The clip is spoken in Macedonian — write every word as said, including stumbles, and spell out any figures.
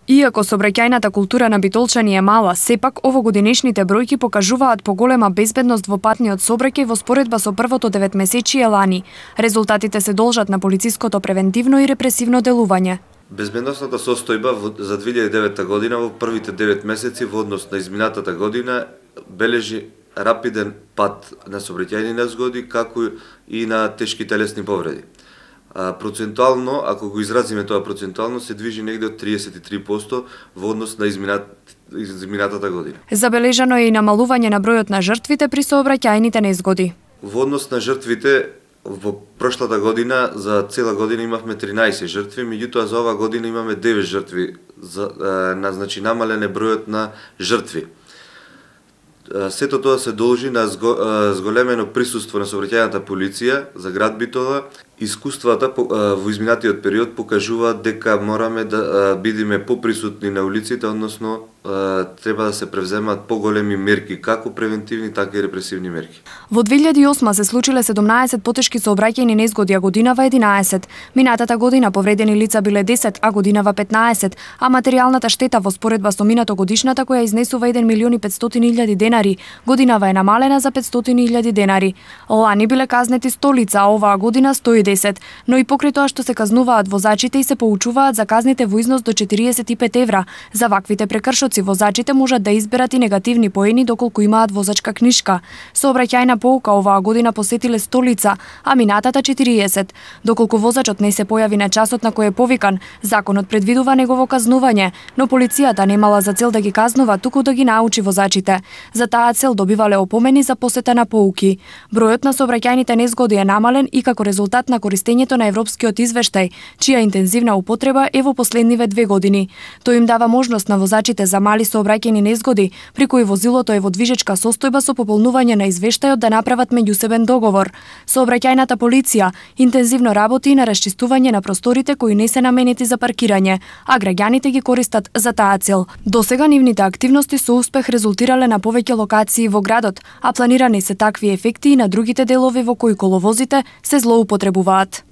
Иако сообраќајната култура на битолчани е мала, сепак овогодинешните бројки покажуваат поголема безбедност во патниот сообраќај во споредба со првото деветмесечие лани. Резултатите се должат на полициското превентивно и репресивно делување. Безбедносната состојба за две илјади и девета година во првите девет месеци во однос на изминатата година бележи рапиден пад на сообраќајни незгоди, како и на тешки телесни повреди. Процентуално, ако го изразиме тоа процентуално, се движи негде од триесет и три проценти во однос на изминат, изминатата година. Забележано е и намалување на бројот на жртвите при сообраќајните незгоди. Во однос на жртвите, во прошлата година, за цела година имавме тринаесет жртви, меѓутоа за ова година имаме девет жртви, за, на, значи намален е бројот на жртви. Сето тоа се должи на зголемено присуство на сообраќајната полиција за град Битола. Искуствата во изминатиот период покажуваат дека мораме да бидеме поприсутни на улиците, односно треба да се превземат поголеми мерки, како превентивни, така и репресивни мерки. Во две илјади и осма се случиле седумнаесет потешки сообраќајни незгоди, а годинава единаесет. Минатата година повредени лица биле десет, а годинава петнаесет, а материјалната штета во споредба со минато годишната, која изнесува еден милион и петстотини илјади денари, годинава е намалена за петстотини илјади денари. Лани биле казнети сто лица, а оваа година сто и десет, но и покрај тоа што се казнуваат возачите и се поучуваат за казните во износ до четириесет и пет евра. За ваквите прекршоци возачите можат да изберат и негативни поени доколку имаат возачка книшка. Сообраќајна поука оваа година посетиле сто лица, а минатата четириесет. Доколку возачот не се појави на часот на кој е повикан, законот предвидува негово казнување, но полицијата немала за цел да ги казнува, туку да ги научи возачите. За таа цел добивале опомени за посета на поуки. Бројот на сообраќајните незгоди е намален и како резултат на користењето на европскиот извештај, чија интензивна употреба е во последниве две години. Тој им дава можност на возачите за мали сообраќајни незгоди, при кои возилото е во движечка состојба со пополнување на извештајот да направат меѓусебен договор. Сообраќајната полиција интензивно работи и на расчистување на просторите кои не се наменети за паркирање, а граѓаните ги користат за таа цел. Досега нивните активности со успех резултирале на повеќе локации во градот, а планирани се такви ефекти и на другите делови во кои коловозите се злоупотребуваат.